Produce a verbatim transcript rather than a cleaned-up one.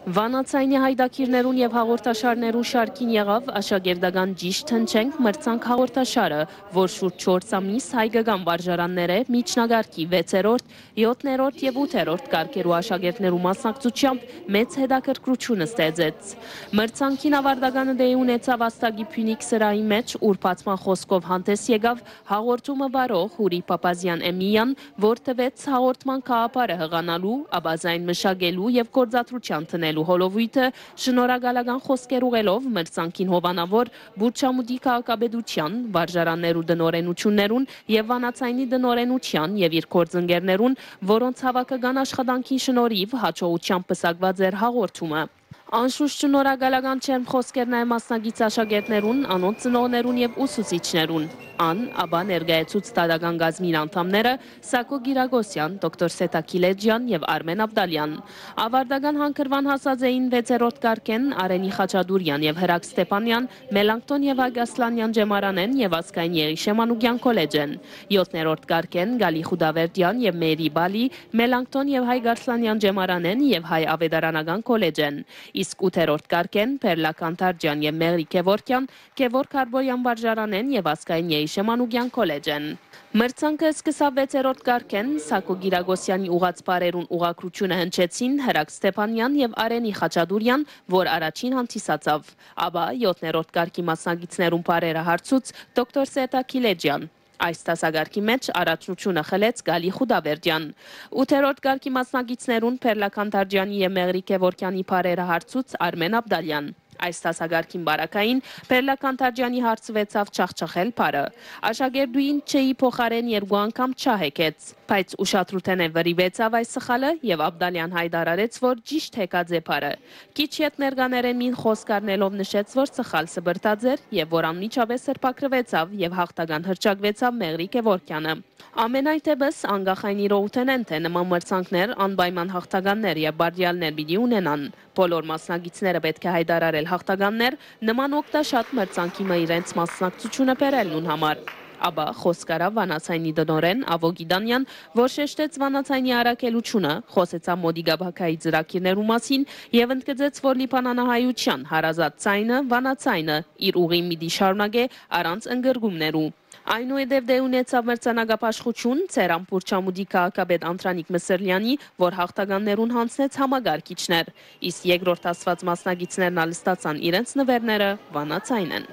Վանաձայնի յայտագիրներուն եւ հաղորդաշարներուն շարքին եղաւ աշակերտական «Ճիշդ հնչենք» մրցանք հաղորդաշարը, որ շուրջ չորս ամիս հայկական վարժարաններէ միջնակարգի վեցերորդ, յոթերորդ եւ ութերորդ կարգերու աշակերտներու մասնակցությամբ մեծ հետաքրքրութիւն ստեղծեց։ Մրցանքին աւարտականը տեղի ունեցաւ Ազդակի Փիւնիկ սրահի մէջ, ուր բացման խօսքով հանդէս եկաւ հաղորդումը վարող Յուրի Փափազեան Էմիլիան, որ տուեց հաղորդման գաղափարը յղանալու, ապա զայն մշակելու եւ գործադրութեան դնելու հոլովոյթը, շնորհակալական խօսքեր ուղղելով մրցանքին հովանաւոր Պուրչամուտի քաղաքապետութեան, վարժարաններու տնօրէնութիւններուն եւ Վանաձայնի տնօրէնութեան եւ իր գործընկերներուն, որոնց հաւաքական աշխատանքին շնորհիվ յաջողութեամբ պսակուած էր հաղորդումը։ Անշուշտ շնորհակալական ջերմ խօսքեր նաեւ մասնակից աշակերտներուն, անոնց ծնողներուն եւ ուսուցիչներուն։ Ան ապա ներկայացուց դատական կազմին անդամները Սակո Կիրակոսեան, դոկտոր Սեթա Քիլեջեան եւ Արմեն Աբդալեան։ Աւարտական հանգրուան հասած էին վեցերորդ կարգէն Արենի Խաչատուրեան եւ Հրակ Ստեփանեան, Մելանքթոն եւ Հայկ Ասլանեան Ջեմարանէն եւ Ազգային Եղիշէ Մանուկեան քոլեջէն, յոթերորդ կարգէն Գալի Խուդավերդեան եւ Մերի Բալի, Մելանքթոն եւ Հայկ Ասլանեան Ջեմարանէն եւ Հայ աւետարանական քոլեջէն, իսկ ութերորդ կարգէն Պերլա Քանթարջեան եւ Մեղրի Գեւորգեան, Գեւորգ Հարբոյեան վարժարանէն եւ Ազգային Եղիշէ Մանուկեան քոլեջէն։ Մրցանքը սկսաւ վեցերորդ կարգէն, Սակո Կիրակոսեանի ուղղած բառերուն ուղղագրութիւնը հնչեցին Հրակ Ստեփանեան եւ Արենի Խաչատուրեան, որ առաջին հանդիսացաւ։ Ապա յոթերորդ կարգի մասնակիցներուն բառերը հարցուց դոկտոր Սեթա Քիլեջեան։ Այս դասակարգի մէջ առաջնութիւնը խլեց Գալի Խուդավերդեան։ Ութերորդ կարգի մասնակիցներուն Պերլա Քանթարջեանի եւ Մեղրի Գեւորգեանի բառերը հարցուց Արմեն Աբդալեան։ Այս դասակարգին պարագային Պերլա Քանթարջեանի հարցուեցաւ չախչախել բառը։ Աշակերտուհին «չ»-ի փոխարէն երկու անգամ «չ» հեքեց, բայց ուշադրութենէ վրիպեցաւ այս սխալը եւ Աբդալեան յայտարարեց, որ ճիշդ հեքած է բառը։ Քիչ ետք ներկաներէն մին խօսք առնելով նշեց, որ սխալ սպրտած էր եւ որ անմիջապէս սրբագրուեցաւ եւ յաղթական հռչակուեցաւ Մեղրի Գեւորգեանը։ Ամենայնտեպս, անկախ այն իրողութենէն, թէ նման մրցանքներ անպայման յաղթականներ եւ բարդեալներ պիտի ունենան, բոլոր մասնակիցները պէտք է յայտարարել յաղթականներ, նման օգտաշատ մրցանքի մը իրենց մասնակցութիւնը բերելն ուն համար։ Ապա խօսք առաւ Վանաձայնի տնօրէն Ավո Գիտանեան, որ շեշտեց Վանաձայնի առաքելութիւնը, խօսեցաւ Մոտիկա Բակայի ծրագիրներու մասին եւ ընդգծեց, որ լիբանանահայութեան հարազատ ձայնը, վանաձայնը, իր ուղին պիտի շարունակէ առանց ընկրկումներու։ Այնուհետեւ դե ունեցաւ մրցանակաբաշխութիւն Ծերան Պուրչամուտի քաղաքապետ Անդրանիկ Մսրլեանի, որ յաղթականներուն յանձնեց համակարգիչներ, իսկ երկրորդ ասված մասնակիցներն ալ ստացան իրենց նուէրները Վանաձայնէն։